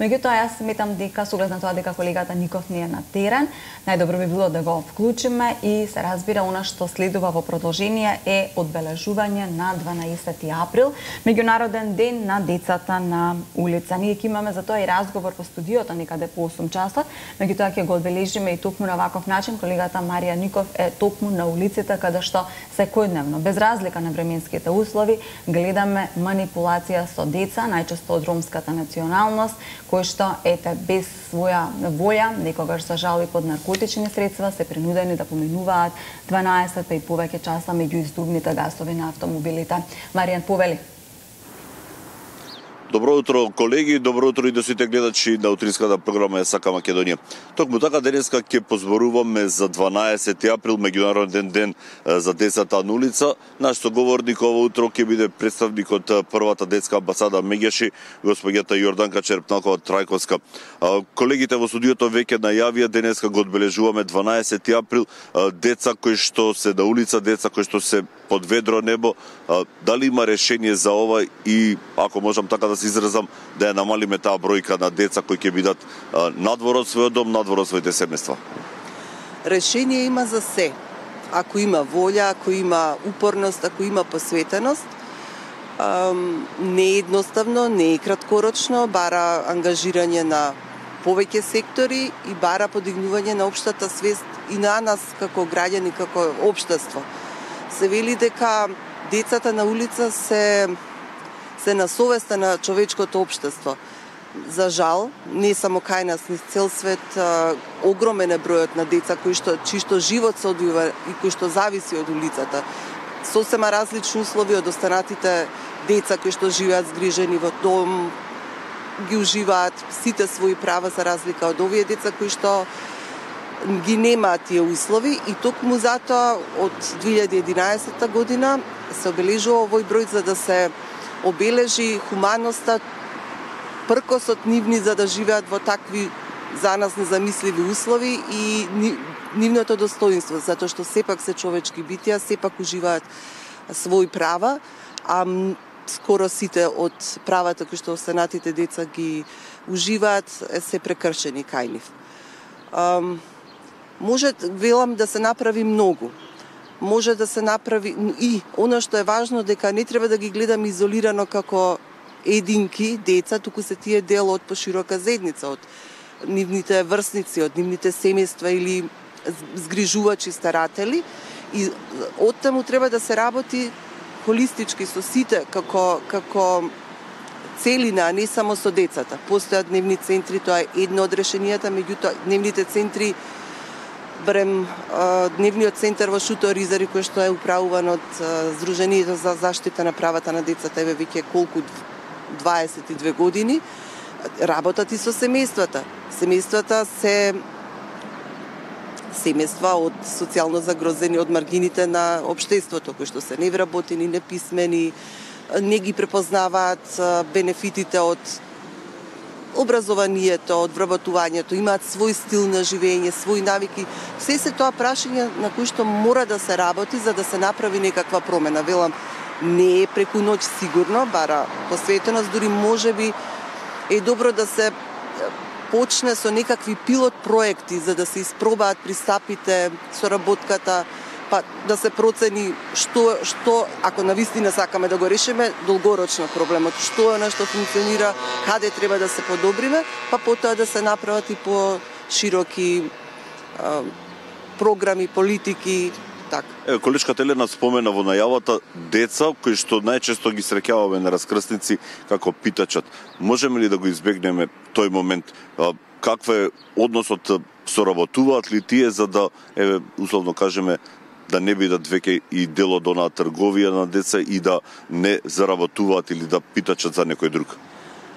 Меѓутоа, јас сметам дека со оглед на тоа дека колегата Ников не е на терен, најдобро би било да го вклучиме и се разбира она што следува во продолжение е одбележување на 12 април, меѓународен ден на децата на улица. Ние ќе имаме за тоа и разговор во студиото некаде по 8 часот, меѓутоа ќе го одбележиме и токму на ваков начин. Колегата Марија Ников е токму на улиците каде што секојдневно, без разлика на временските услови, гледаме манипулација со деца, најчесто од ромската националност, кои што ете без своја волја, некогаш за жал и под наркотични средства, се принудени да поминуваат 12 и повеќе часа меѓу издувните гасови на автомобилите. Маријан, повели. Добро утро, колеги, добро утро и до сите гледачи на утринската програма СК Македонија. Токму така денеска ќе позборуваме за 12 април, меѓународен ден за децата на улица. Наш соговорник ово утро ќе биде представник од првата детска амбасада Меѓаши, господјата Јорданка Черпнакова Трајковска. Колегите во студиото веќе најавија денеска го одбележуваме 12 април, деца кои што се на улица, деца кои што се под ведро небо. Дали има решение за ова и ако можам така да се изразам, да ја намалиме таа бројка на деца кои ќе бидат надвор од својот дом, надвор од своите семејства? Решение има за се. Ако има волја, ако има упорност, ако има посветеност, не е едноставно, не е краткорочно, бара ангажирање на повеќе сектори и бара подигнување на општата свест и на нас како граѓани, како општество. Се вели дека децата на улица се на совеста на човечкото општество. За жал, не само кај нас, низ цел свет, огромен е бројот на деца чишто живот се одвива и кои што зависи од улицата. Сосема различни услови од останатите деца кои што живеат згрижени во дом, ги уживаат сите своји права за разлика од овие деца кои што ги немаат тие услови и токму затоа од 2011 година се обележува овој број за да се обележи хуманоста, пркосот нивни за да живеат во такви за нас незамисливи услови и нивното достоинство, затоа што сепак се човечки битија, сепак уживаат своји права, а скоро сите од правата кои што останатите деца ги уживаат се прекршени кај нив. Може, велам, да се направи многу. Може да се направи и она што е важно дека не треба да ги гледаме изолирано како единки деца, туку се тие дел од поширока заедница, од нивните врсници, од нивните семејства или згрижувачи старатели и оттаму треба да се работи холистички со сите како целина, а не само со децата. Постојат дневни центри, тоа е едно од решенијата, меѓутоа дневните центри барем дневниот центар во Шуто Ризари кој што е управуван од Сдруженијето за заштита на правата на децата еве веќе колку 22 години работат и со семејствата. Семејствата се семејства од социјално загрозени, од маргините на општеството кои што се невработени, неписмени, не ги препознаваат бенефитите од образованието, од вработувањето, имаат свој стил на живење, своји навики. Се тоа прашања на кои што мора да се работи за да се направи некаква промена. Велам, не е преку ноќ сигурно, бара посветеност, дури можеби е добро да се почне со некакви пилот проекти за да се испробаат пристапите, соработката, па да се процени што ако навистина сакаме да го решиме долгорочно проблемот, што е нешто функционира, каде треба да се подобриме, па потоа да се направат и по широки програми, политики, така. Колешката Елена спомена во најавата деца кои што најчесто ги среќаваме на раскрсници како питачат. Можеме ли да го избегнеме тој момент? Каква е односот, соработуваат ли тие за да условно кажеме да не бидат веќе и дел од онаа трговија на деца и да не заработуваат или да питачат за некој друг?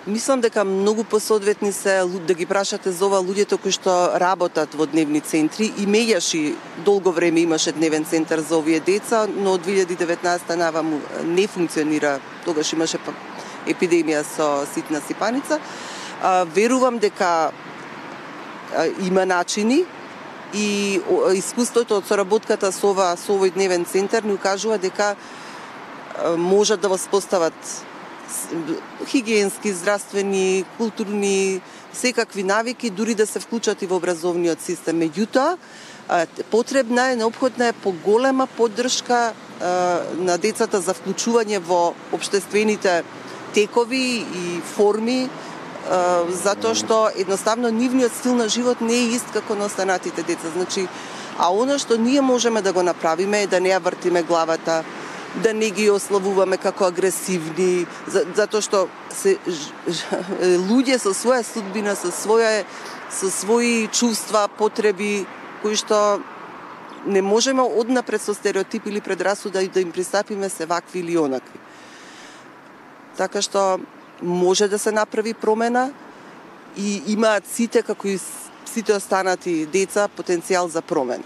Мислам дека многу посоодветни се да ги прашате за ова луѓето кои што работат во дневни центри и Меѓаши долго време имаше дневен центар за овие деца, но од 2019 наваму не функционира, тогаш имаше епидемија со ситна сипаница. Верувам дека има начини и искуството од соработката со овој дневен центар ни укажува дека можат да воспостават хигиенски, здравствени, културни, секакви навики, дури да се вклучат и во образовниот систем. Меѓутоа, потребна е, неопходна е поголема поддршка на децата за вклучување во општествените текови и форми, затоа што едноставно нивниот стил на живот не е ист како на останатите деца. Значи, а оно што ние можеме да го направиме е да не ја вртиме главата, да не ги ославуваме како агресивни, затоа што се луѓе со своја судбина, со своји чувства, потреби, кои што не можеме однапред со стереотип или предрасуда да им пристапиме се вакви или онакви. Така што може да се направи промена и имаат сите, како и сите останати деца, потенцијал за промена.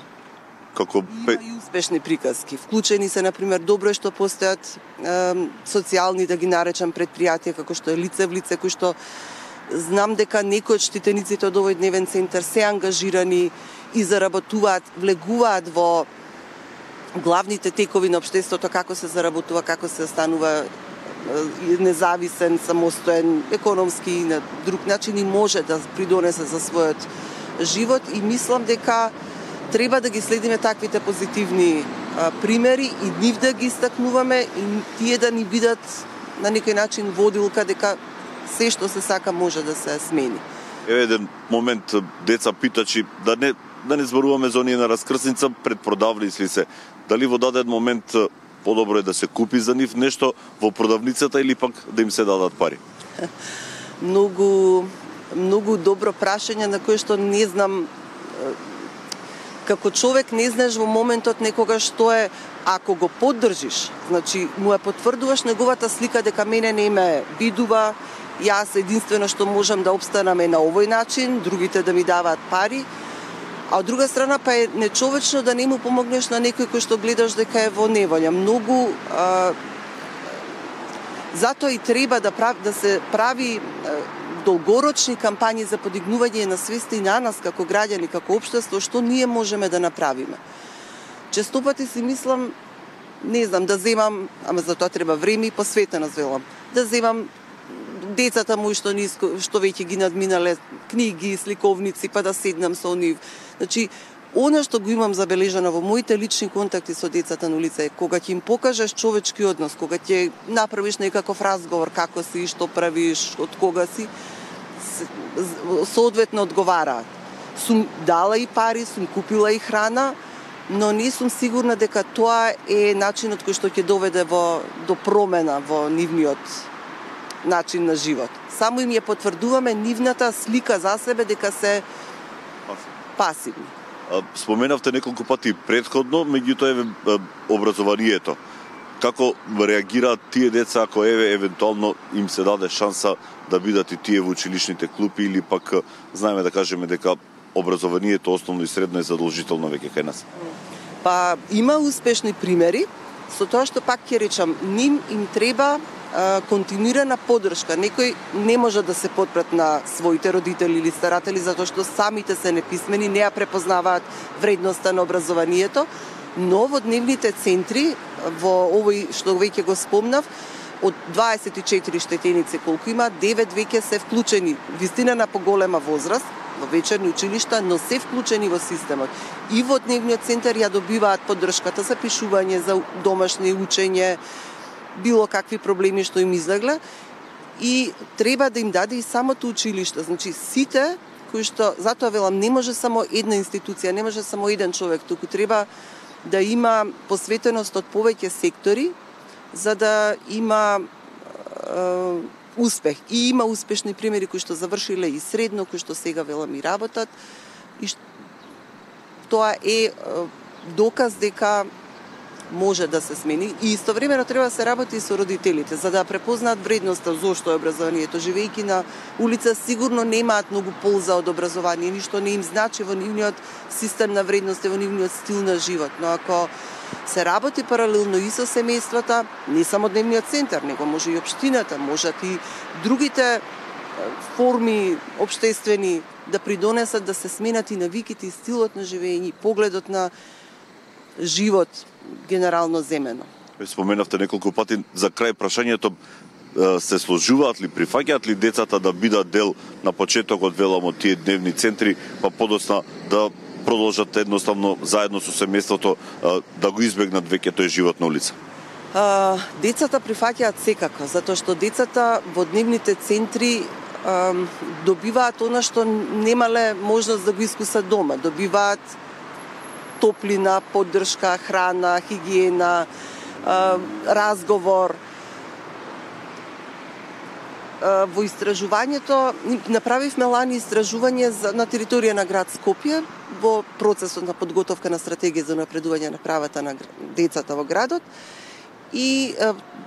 Има и успешни приказки. Вклучени се, например, добро е што постојат социјални, да ги наречам, предпријатија, како што е Лице в лице, кои што знам дека некои од штитениците од овој дневен центар се ангажирани и заработуваат, влегуваат во главните текови на општеството, како се заработува, како се останува независен, самостоен, економски и на друг начин и може да придонесе за својот живот и мислам дека треба да ги следиме таквите позитивни примери и нив да ги истакнуваме и тие да ни бидат на некој начин водилка дека се што се сака може да се смени. Еве еден момент деца питачи да не зборуваме за оние на раскрсница предпродавли се. Дали во даден момент подобро е да се купи за нив нешто во продавницата или пак да им се дадат пари? Многу добро прашање на кое што не знам. Како човек не знаеш во моментот некогаш што е, ако го поддржиш, значи му ја потврдуваш неговата слика дека мене не ме бидува, јас единствено што можам да обстанам е на овој начин, другите да ми даваат пари, а од друга страна па е нечовечно да не му помогнеш на некој кој што гледаш дека е во неволја. Многу затоа и треба да се прави долгорочни кампањи за подигнување на свеста и на нас како граѓани, како општество, што ние можеме да направиме. Честопати си мислам, не знам, да земам, ама за тоа треба време и посветеност, велам, да земам децата мои што веќе ги надминале книги, сликовници, па да седнам со нив. Значи, она што го имам забележано во моите лични контакти со децата на улица е кога ќе им покажеш човечки однос, кога ќе направиш некаков разговор, како си, што правиш, од кога си, соодветно одговараат. Сум дала и пари, сум купила и храна, но не сум сигурна дека тоа е начинот кој што ќе доведе до промена во нивниот начин на живот. Само им ја потврдуваме нивната слика за себе дека се пасивни. Споменавте неколку пати претходно, меѓутоа образованието. Како реагираат тие деца ако евентуално им се даде шанса да бидат и тие во училишните клупи или пак знаеме да кажеме дека образованието основно и средно е задолжително веќе кај нас? Па има успешни примери, со тоа што пак ќе речам, ним им треба континуирана поддршка. Некои не може да се подпрат на своите родители или старатели затоа што самите се неписмени, не ја препознаваат вредноста на образованието, но во дневните центри, во овој што веќе го спомнав, од 24 штетеници колку има, 9 веќе се вклучени, вистина на поголема возраст, во вечерни училишта, но се вклучени во системот. И во дневниот центар ја добиваат поддршката за пишување, за домашни учење, било какви проблеми што им излегле и треба да им даде и самото училиште. Значи сите кои што, затоа велам, не може само една институција, не може само еден човек, туку треба да има посветеност од повеќе сектори за да има успех. И има успешни примери кои што завршиле и средно, кои што сега велам и работат. И тоа е доказ дека може да се смени и истовремено треба да се работи и со родителите за да препознаат вредноста зошто е образованието. Живејќи на улица сигурно немаат многу полза од образование, ништо не им значи во нивниот систем на вредности, во нивниот стил на живот. Но ако се работи паралелно и со семејствата, не само дневниот центар, него може и општината, можат и другите форми општествени да придонесат да се сменат и навиките и стилот на живење, погледот на живот генерално земено. Споменавте неколку пати за крај прашањето се сложуваат ли, прифаќаат ли децата да бидат дел на почетокот, велам, од тие дневни центри, па подосна да продолжат едноставно заедно со семејството да го избегнат веќе тој живот на улица? Децата прифаќаат секако, затоа што децата во дневните центри добиваат она што немале можност да го искусат дома. Добиваат топлина, поддршка, храна, хигиена, разговор. Во истражувањето направивме лани истражување на територија на град Скопје во процесот на подготовка на стратегија за напредување на правата на децата во градот и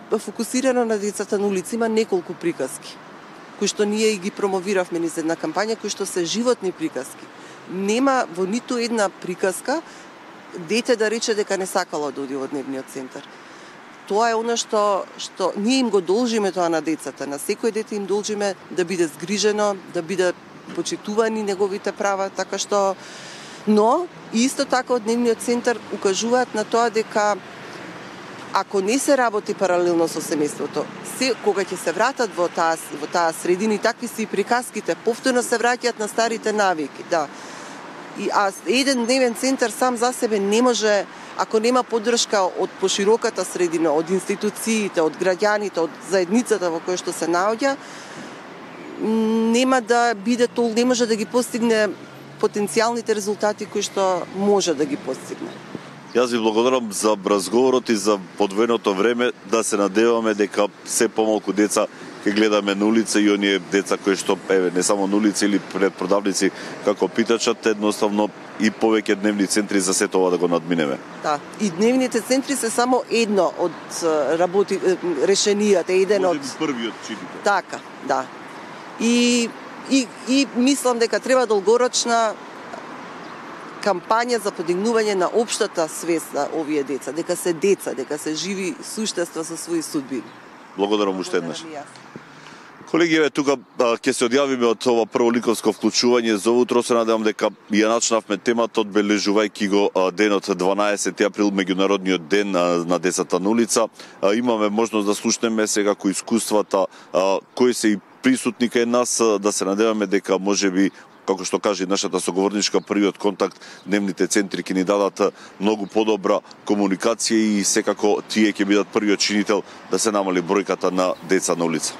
фокусирано на децата на улица. Има неколку приказки кои што ние ги промовиравме низ една кампања, кои што се животни приказки. Нема во ниту една приказка дете да рече дека не сакало да оди во дневниот центар. Тоа е она што ние им го должиме тоа на децата. На секој дете им должиме да биде згрижено, да биде почитувани неговите права, така што... Но, исто така од дневниот центар укажуваат на тоа дека ако не се работи паралелно со семејството, кога ќе се вратат во таа средина, такви се и приказките, повторно се враќаат на старите навики, да. Еден дневен центар сам за себе не може, ако нема поддршка од пошироката средина, од институциите, од граѓаните, од заедницата во која што се наоѓа, нема да биде не може да ги постигне потенцијалните резултати кои што може да ги постигне. Јас ви благодарам за разговорот и за подвоеното време, да се надеваме дека се помалку деца ќе гледаме на улица и оние деца кои што не само на улица или пред продавници како питачат, едноставно и повеќе дневни центри за сето ова да го надминеме. Да, и дневните центри се само едно од решенијата, еден од првиот чинител. Така, да. И мислам дека треба долгорочна кампања за подигнување на општата свест на овие деца, дека се живи суштества со своји судбини. Благодарам уште еднаш. Колеги, тука ќе се одјавиме од ова прво ликовско вклучување за утро. Се надевам дека ја начнавме темата одбележувајќи го денот 12 април, меѓународниот ден на децата на улица. Имаме можност да слушнеме секако искуствата кои се и присутни кај нас, да се надеваме дека можеби, како што кажа и нашата соговорничка, првиот контакт, дневните центри ќе ни дадат многу подобра комуникација и секако тие ќе бидат првиот чинител да се намали бројката на деца на улица.